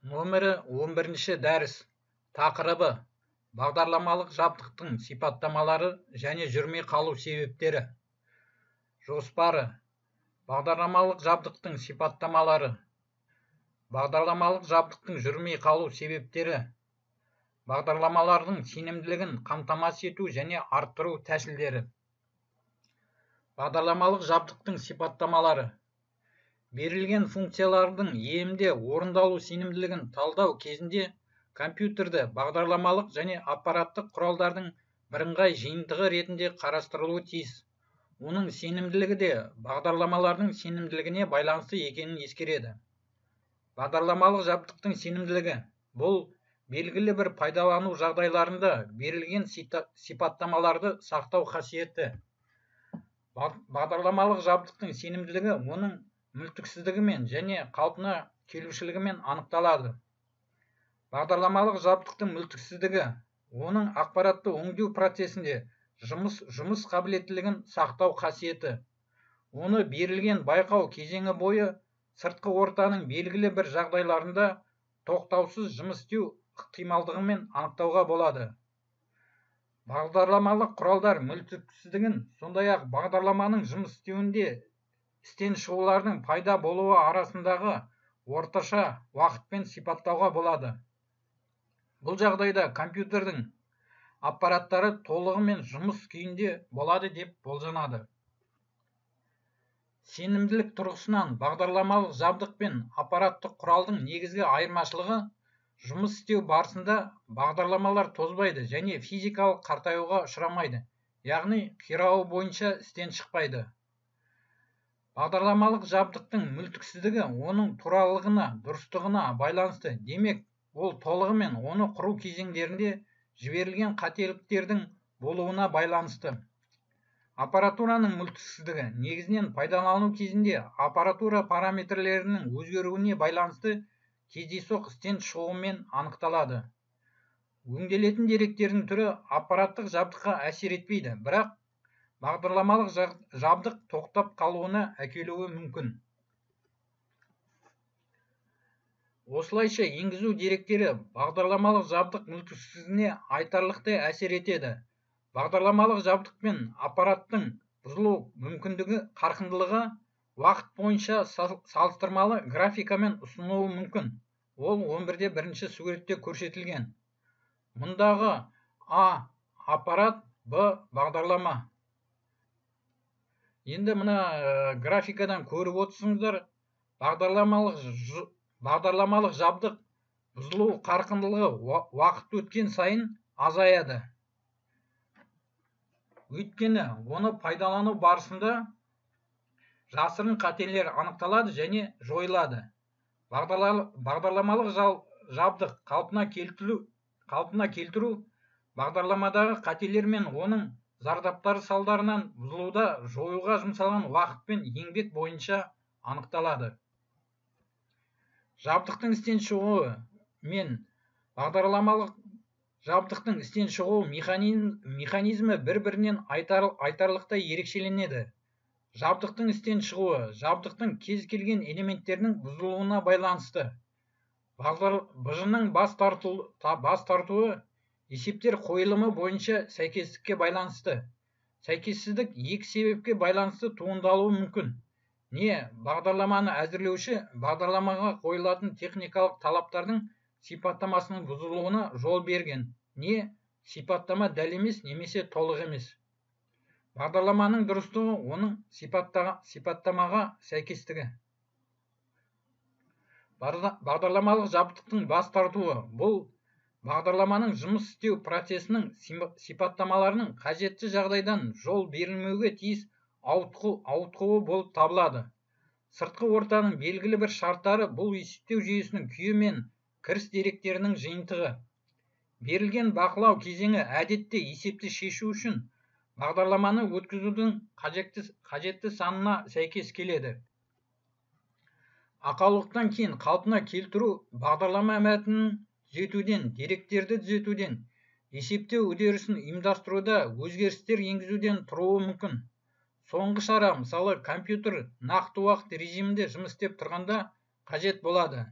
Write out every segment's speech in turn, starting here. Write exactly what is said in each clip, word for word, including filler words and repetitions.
Нөмірі он бірінші дәріс. Тақырыбы: бағдарламалық жабдықтың сипаттамалары және жүрмей қалу себептері. Жоспары: бағдарламалық жабдықтың сипаттамалары. Бағдарламалық жабдықтың жүрмей қалу себептері. Бағдарламалардың сенімділігін қамтамасыз ету және арттыру тәсілдері. Бағдарламалық жабдықтың сипаттамалары. Берілген функциялардың емде орындалу сенімділігін талдау кезінде компьютерді бағдарламалық және аппараттық құралдардың бірыңғай жиынтығы ретінде қарастырылуы тиіс. Оның сенімділігі де бағдарламалардың сенімділігіне байланысты екенін ескереді. Бағдарламалық жабдықтың сенімділігі – бұл белгілі бір пайдалану жағдайларында берілген сипаттамаларды сақтау қасиеті. Бағдарламалық жабдықтың сенімділігі оның мүлтіксіздігімен және қалпына келушілігімен анықталады. Бағдарламалық жабдықтың мүлтіксіздігі оның ақпаратты өңдеу процесінде жұмыс жұмыс қабілеттілігін сақтау қасиеті. Оны берілген байқау кезеңі бойы сыртқы ортаның белгілі бір жағдайларында тоқтаусыз жұмыс істеу ықтималдығымен анықтауға болады. Бағдарламалық құралдар мүлтіксіздігін, сондай-ақ бағдарламаның жұмыс істеуінде істен шығулардың пайда болуы арасындағы орташа уақытпен сипаттауға болады. Бұл жағдайда компьютердің аппараттары толығымен жұмыс күйінде болады деп болжанады. Сенімділік тұрғысынан бағдарламалық жабдық пен аппараттық құралдың негізгі айырмашылығы: жұмыс істеу барысында бағдарламалар тозбайды және физикалық қартаюға ұшырамайды, яғни қирауы бойынша істен шықпайды. Бағдарламалық жабдықтың мүлтіксіздігі оның туралығына, дұрыстығына байланысты, демек, ол толығымен оны құру кезеңдерінде жіберілген қателіктердің болуына байланысты. Аппаратураның мүлтіксіздігі негізінен пайдалану кезінде аппаратура параметрлерінің өзгеруіне байланысты кездейсоқ істен шығуымен анықталады. Өңделетін деректердің түрі аппараттық жабдыққа әсер етпейді, бірақ бағдарламалық жабдық тоқтап қалуына әкелуі мүмкін. Осылайша енгізу деректері бағдарламалық жабдық мүлтіксіздігіне айтарлықтай әсер етеді. Бағдарламалық жабдық пен аппараттың бұзылу мүмкіндігі қарқындылығы уақыт бойынша салыстырмалы графикамен ұсынылуы мүмкін. Ол он бірде бірінші суретте көрсетілген. Мұндағы А аппарат, Б бағдарлама. Енді мына графикадан көріп отырсыңыздар, бағдарламалық жабдық бұзылу қарқындылығы уақыт өткен сайын азаяды. Өйткені оны пайдалану барысында жасырын қателер анықталады және жойылады. Бағдарламалық жабдық қалпына келтіру бағдарламадағы қателер мен оның зардаптары салдарынан бұзылуда жоюға жұмсалған уақыт пен еңбек бойынша анықталады. Жабдықтың істен шығуы мен бағдарламалық жабдықтың істен шығу механизмі бір-бірінен айтарлықтай ерекшеленеді. Жабдықтың істен шығуы жабдықтың кез келген элементтерінің бұзылуына байланысты. Бұжының бас тартуы есептер қойылымы бойынша сәйкестікке байланысты. Сәйкессіздік екі себепке байланысты туындалуы мүмкін. Не бағдарламаны әзірлеуші бағдарламаға қойылатын техникалық талаптардың сипаттамасының бұзылуына жол берген, не сипаттама дәл емес немесе толық емес. Бағдарламаның дұрыстығы оның сипаттамаға сәйкестігі. Бағдарламалық жабдықтың бас тартуы – бұл бағдарламаның жұмыс істеу процесінің сипаттамаларының қажетті жағдайдан жол берілмеуге тиіс ауытқуы болып табылады. Сыртқы ортаның белгілі бір шарттары бұл есептеу жүйесінің күйі мен кіріс деректерінің жиынтығы. Берілген бақылау кезеңі әдетте есепті шешу үшін бағдарламаны өткізудің қажетті санына сәйкес келеді. Ақаулықтан кейін қалпына келтіру бағдарлама мәтінін түзетуден, деректерді түзетуден, есептеу үдерісін ұйымдастыруда өзгерістер енгізуден тұруы мүмкін. Соңғы шара, мысалы, компьютер нақты уақыт режимінде жұмыс істеп тұрғанда қажет болады.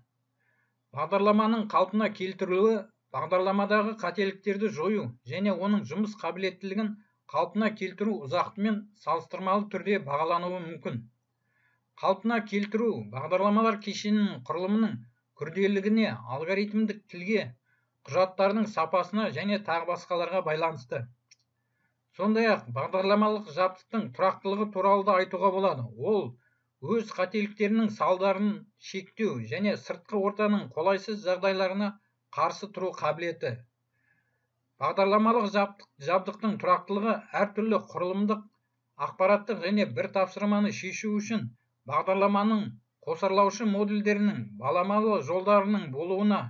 Бағдарламаның қалпына келтірілуі бағдарламадағы қателіктерді жою және оның жұмыс қабілеттілігін қалпына келтіру ұзақтығымен салыстырмалы түрде бағалануы мүмкін. Қалпына келтіру бағдарламалар кешенінің құрылымының күрделілігіне, алгоритмдік тілге, құжаттардың сапасына және тағы басқаларға байланысты. Сондай-ақ бағдарламалық жабдықтың тұрақтылығы туралы да айтуға болады. Ол өз қателіктерінің салдарын шектеу және сыртқы ортаның қолайсыз жағдайларына қарсы тұру қабілеті. Бағдарламалық жабдықтың тұрақтылығы әртүрлі құрылымдық, ақпараттық және бір тапсырманы шешу үшін бағдарламаның қосарлаушы модульдерінің баламалы жолдарының болуына,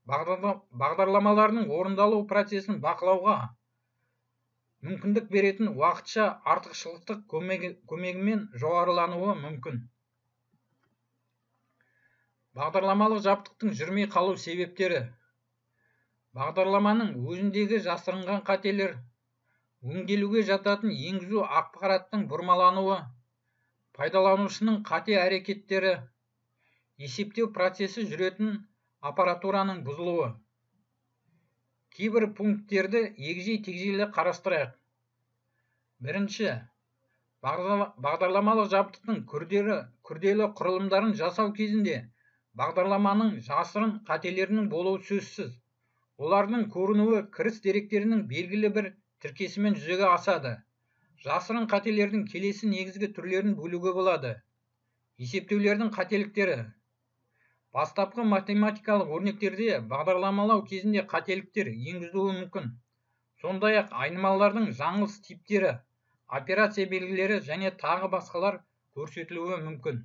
бағдарламаларының орындалу процесін бақылауға мүмкіндік беретін уақытша артықшылықтық көмегімен жоғарылануы мүмкін. Бағдарламалық жабдықтың жүрмей қалу себептері. Бағдарламаның өзіндегі жасырынған қателер, өңделуге жататын енгізу ақпараттың бұрмалануы, пайдаланушының қате әрекеттері, есептеу процесі жүретін аппаратураның бұзылуы. Кейбір пункттерді егжей-тегжейлі қарастырайық. Бірінші, бағдарламалық жабдықтың күрделі құрылымдарын жасау кезінде бағдарламаның жасырын қателерінің болуы сөзсіз. Олардың көрінуі кіріс деректерінің белгілі бір тіркесімен жүзеге асады. Жасырын қателердің келесі негізгі түрлерін бөлуге болады. Есептеулердің қателіктері. Бастапқы математикалық өрнектерде бағдарламалау кезінде қателіктер енгізілуі мүмкін. Сондай-ақ айнымалылардың жаңылыс типтері, операция белгілері және тағы басқалар көрсетілуі мүмкін.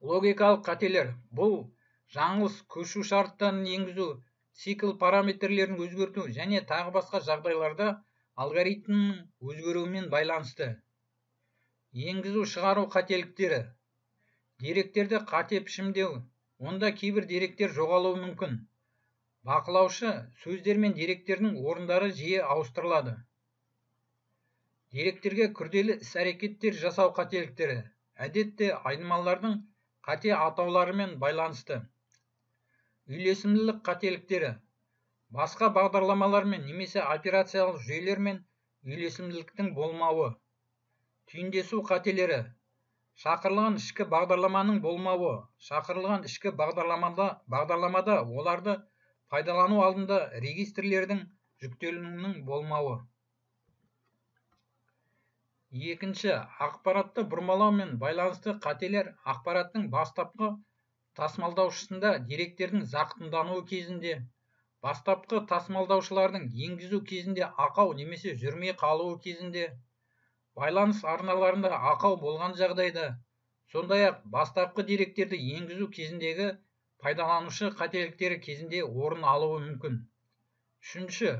Логикалық қателер. Бұл жаңылыс көшу шарттарын енгізу, цикл параметрлерін өзгерту және тағы басқа жағдайларда алгоритмнің өзгеруімен байланысты. Енгізу шығару қателіктері. Деректерді қате пішімдеу, онда кейбір деректер жоғалуы мүмкін. Бақылаушы сөздер мен деректердің орындары жиі ауыстырылады. Деректерге күрделі іс-әрекеттер жасау қателіктері. Әдетте айнымалылардың қате атауларымен байланысты. Үйлесімділік қателіктері. Басқа бағдарламалармен немесе операциялық жүйелермен үйлесімділіктің болмауы. Түйіндесу қателері. Шақырылған ішкі бағдарламаның болмауы. Шақырылған ішкі бағдарламада оларды пайдалану алдында регистрлердің жүктелуінің болмауы. Екінші, ақпаратты бұрмалаумен байланысты қателер ақпараттың бастапқы тасымалдаушысында деректердің зақымдануы кезінде, бастапқы тасымалдаушылардың енгізу кезінде ақау немесе жүрмей қалуы кезінде, байланыс арналарында ақау болған жағдайда, сондай-ақ бастапқы деректерді енгізу кезіндегі пайдаланушы қателіктері кезінде орын алуы мүмкін. Үшінші,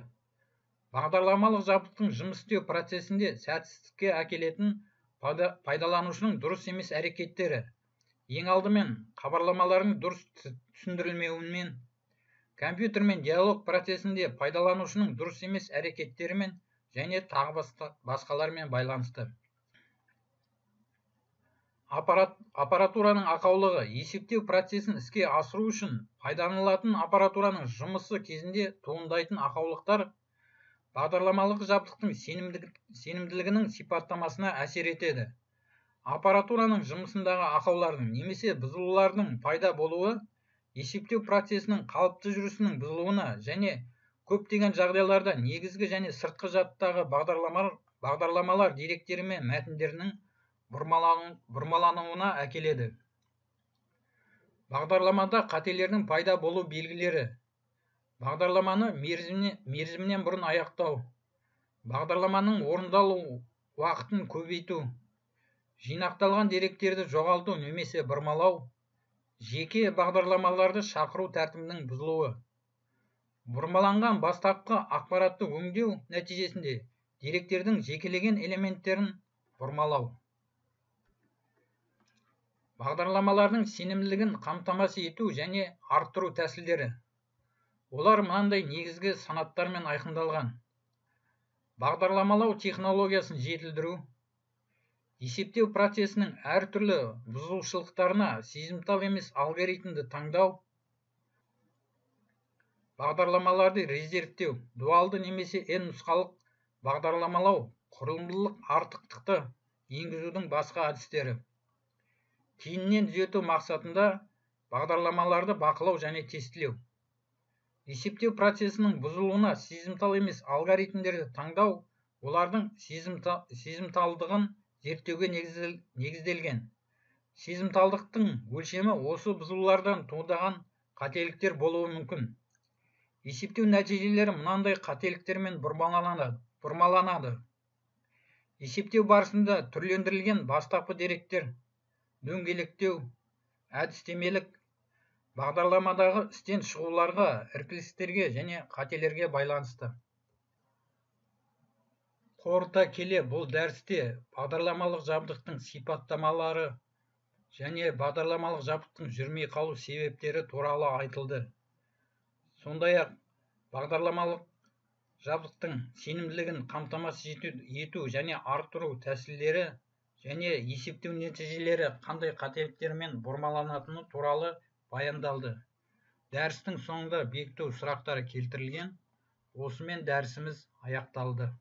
бағдарламалық жабдықтың жұмыс істеу процесінде сәтсіздікке әкелетін пайдаланушының дұрыс емес әрекеттері. Ең алдымен, хабарламалардың дұрыс түсіндірілмеуімен, компьютермен диалог процесінде пайдаланушының дұрыс емес әрекеттерімен және тағы басқалармен байланысты. Аппаратураның ақаулығы. Есептеу процесін іске асыру үшін пайдаланылатын аппаратураның жұмысы кезінде туындайтын ақаулықтар бағдарламалық жабдықтың сенімділігінің сипаттамасына әсер етеді. Аппаратураның жұмысындағы ақаулардың немесе бұзылулардың пайда болуы есептеу процесінің қалыпты жүрісінің бұзылуына және көптеген жағдайларда негізгі және сыртқы жадтағы бағдарламалар деректері мен мәтіндерінің бұрмалануына әкеледі. Бағдарламада қателердің пайда болу белгілері. Бағдарламаны мерзімінен бұрын аяқтау. Бағдарламаның орындалу уақытын көбейту. Жинақталған деректерді жоғалту немесе бұрмалау. Жеке бағдарламаларды шақыру тәртібінің бұзылуы. Бұрмаланған бастапқы ақпаратты өңдеу нәтижесінде деректердің жекелеген элементтерін бұрмалау. Бағдарламалардың сенімділігін қамтамасыз ету және арттыру тәсілдері. Олар мынандай негізгі санаттармен айқындалған. Бағдарламалау технологиясын жетілдіру, Есептеу процесінің әртүрлі бұзушылықтарына сезімтал емес алгоритмді таңдау, бағдарламаларды резервтеу, дуалды немесе n нұсқалық бағдарламалау, құрылымдылық артықтықты енгізудің басқа әдістері. Кейіннен түзету мақсатында бағдарламаларды бақылау және тестілеу. Есептеу процесінің бұзылуына сезімтал емес алгоритмдерді таңдау, олардың сезімталдығын зерттеуге негізделген. Сезімталдықтың өлшемі осы бұзылулардан туындаған қателіктер болуы мүмкін. Есептеу нәтижелері мынандай қателіктермен бұрмаланады. Есептеу барысында түрлендірілген бастапқы деректер, дөңгелектеу, әдістемелік, бағдарламадағы істен шығуларға, іркілістерге және қателерге байланысты. Қорыта келе, бұл дәрісте бағдарламалық жабдықтың сипаттамалары және бағдарламалық жабдықтың жүрмей қалу себептері туралы айтылды. Сондай-ақ бағдарламалық жабдықтың сенімділігін қамтамасыз ету және арттыру тәсілдері және есептеу нәтижелері қандай қателіктермен бұрмаланатыны туралы баяндалды. Дәрістің соңында бекіту сұрақтары келтірілген. Осымен дәрісіміз аяқталды.